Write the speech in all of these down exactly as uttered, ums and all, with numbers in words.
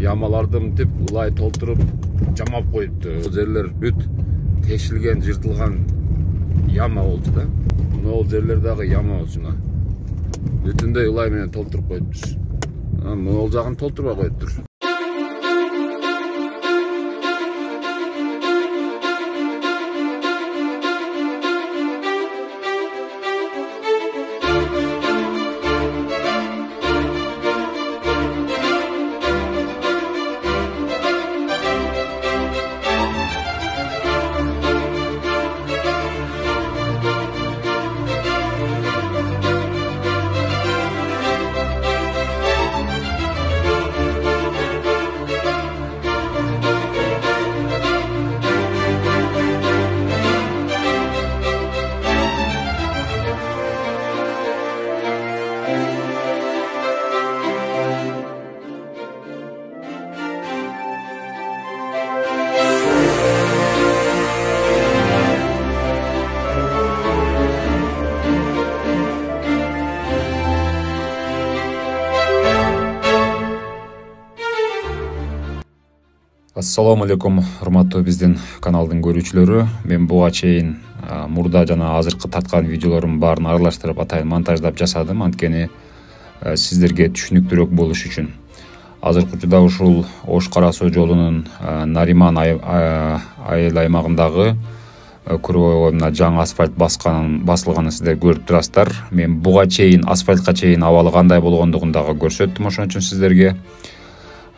ямаларды мынтип ылай толтуруп жамап коюпту. Бул жерлер бүт тешилген, жыртылган яма болчу да. Могул жерлер дагы яма болчу мына. Бүтүндөй ылай менен толтуруп коюптур. Могул жагын толтурбай коюптур. Ассаламу алейкум, урматтуу биздин каналдын көрүүчүлөрү. Мен буга чейин мурда жана азыркы тарткан видеолордун баарын аралаштырып атайын монтаждап жасадым, анткени сиздерге түшүнүктүүрөөк болуш үчүн. Азыркы учурда ушул Ош Кара Суу жолунун Нариман айыл аймагындагы круговой мына жаңы асфальт басканын басылганын сиздер көрүп турасыздар. Мен буга чейин асфальтка чейин абалы кандай болгондугун дагы көрсөттүм, ошон үчүн сиздерге.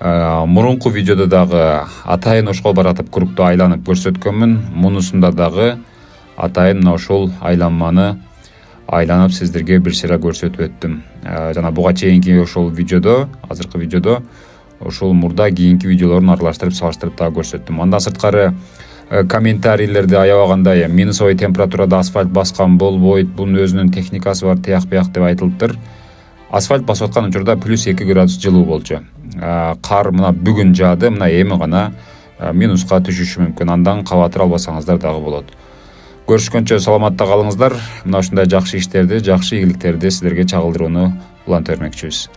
Мурунку видеодо дагы атайын ошол баратып кругду айланып көрсөткөнмүн. Мунусунда дагы атайын мына ушул айланманы айланып сиздерге бир сыйра көрсөтүп өттүм. Жана буга чейинки ошол видеодо, азыркы видеодо ушул мурда кийинки видеолорун аралаштырып салыштырып дагы көрсөттүм. Андан сырткары комментарийлерди аябагандай минусовой температурада асфальт баскан болбойт, бунун өзүнүн техникасы бар, тияк бияк деп айтылыптыр. Асфальт басып аткан учурда плюс эки градус жылуу болчу. Кар мына бүгүн жаады, мына эми гана минуска түшүшү мүмкүн. Андан кабатыр албасаңыздар дагы болот. Көрүшкөнчө саламатта калыңыздар. Мына ушундай жакшы иштерди, жакшы ийгиликтерди сиздерге чагылдырууну уланта бермекчибиз.